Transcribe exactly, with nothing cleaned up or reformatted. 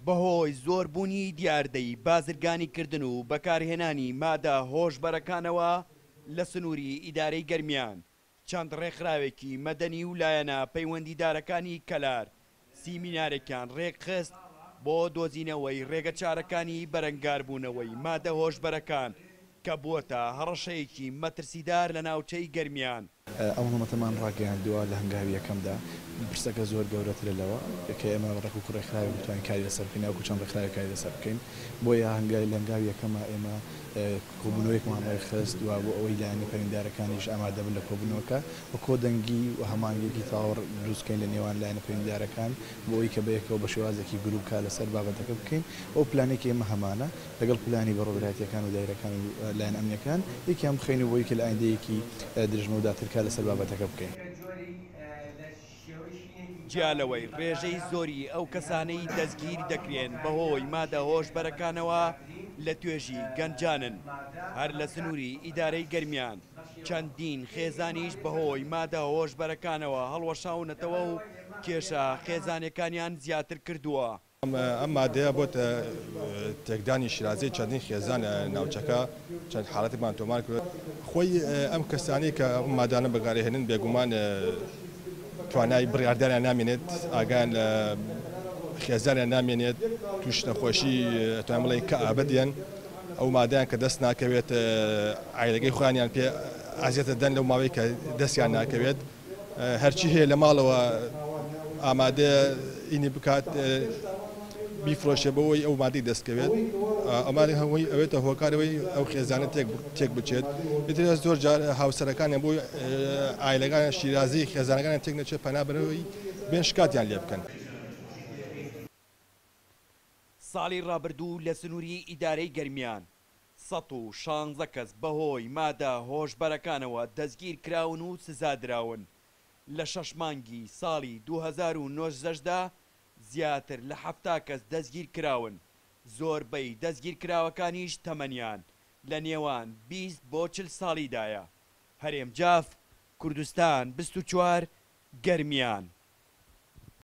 بەهۆی زۆربوونی دیاردەی بازرگانیکردن و بەکارهێنانی مادە هۆشبەرەکانەوە لە سنووری ئیدارەی گەرمیان، چەند ڕێکخراوێکی مەدەنی و لایەنە پەیوەندیدارەکانی کەلار سیمینارێکیان ڕێکخست بۆ دۆزینەوەی ڕێگەچارەکانی بەرەنگاربوونەوەی مادە هۆشبەرەکان کە بووەتە هەڕەشەیەکی مەترسیدار لە ناوچەی گەرمیان. ئەو هەڵمەتەمان ڕاگەیاندووە لە هەنگاوی یەکەمدا پرسەکە زۆر گەورەترە لەوە کە ئێمە ڕێک و ڕێکخراوێک بتوانین کاری لەسەر بکەین، ئەو چەند ڕێکخراوێک کاری لەسەر بکەین. بۆیە هەنگاوی لە هەنگاوی یەکەمە ئێمە کۆبوونەوەیەکمان ڕێکخست و بۆ ئەوەی لایەنە پەیوەندیدارەکانیش ئامادە بن لە کۆبوونەوەکە و کۆدەنگی و هەماهەنگییەکی تەواو دروست بکەین لە نێوان لایەنە پەیوەندیدارەکان بۆ ئەوەی کە بەیەکەوە بە شێوازێکی گروپ کار لەسەر بابەتەکە بکەین. ئەو پلانێکی ئێمە هەمانە لەگەڵ پلانی بەڕێوەبەرایەتیەکان و دایرەکان و لایەن ئەمنیەکان یەکیان بخەین و بۆی کە لە ئایندەیەکی درێژمەوداتر کار لەسەر بابەتەکە بکەین. جیا لەوەی ڕێژەی زۆری ئەو کەسانەی دەستگیر دەکرێن بەهۆی مادە هۆشبەرەکانەوە لە توێژی گەنجانن، هەر لە سنووری ئیدارەی گەرمیان چەندین خێزانیش بەهۆی مادە هۆشبەرەکانەوە هەڵوەشاونەتەوە و کێشە خێزانەکانیان زیاتر کردووە. ئەم مادەیە بۆتە تێکدانی شیرازەی چەندین خێزان لە ناوچەکە، چەند حاڵەتێکمان تۆمار کرد. خۆی ئەم کەسانی کە ئەم مادانە بەکارهێنن بێگومان توانای بڕیاردانیان نامێنێت، ئاگایان لە خێزانیان نامێنێت، توش نەخۆشی توان بڵێ کەئابە دێن. ئەو مادەیان کە دەست ناکەوێت عایلەکەی خۆیانیان پێ ئازیەتە دەن لەو ماوەی کە دەستیان ناکەوێت. هەرچی هەیە لە ماڵەوە ئامادە ئینی بکات بیفرۆشێ بەوەی ئەو مادەی دەستکەوێت. ئەمانە هەمووی ئەوێتە هۆکارەوەی ئەو خێزانە تێک بچێت. ئیتر زۆر جار هاوسەرەکانیان بۆی عایلەکانیان شیرازی خێزانەکانیان تێک نەچێت پەنا بەرەوەی بێن شکاتیان لێ بکەن. ساڵی ڕابردوو لە سنووری ئیدارەی گەرمیان سەد و شانزە کەس بەهۆی مادە هۆشبەرەکانەوە دەستگیر کراون و سزا دراون. لە شەش مانگی ساڵی دوو هەزار و نۆزدەشدا زیاتر لە حەفتا کەس دەستگیر کراون، زۆربەی دەستگیر کراوەکانیش تەمەنیان لە نێوان بیست بۆ چل ساڵیدایە. هەرێم جاف، کوردستان بیست و چوار، گەرمیان.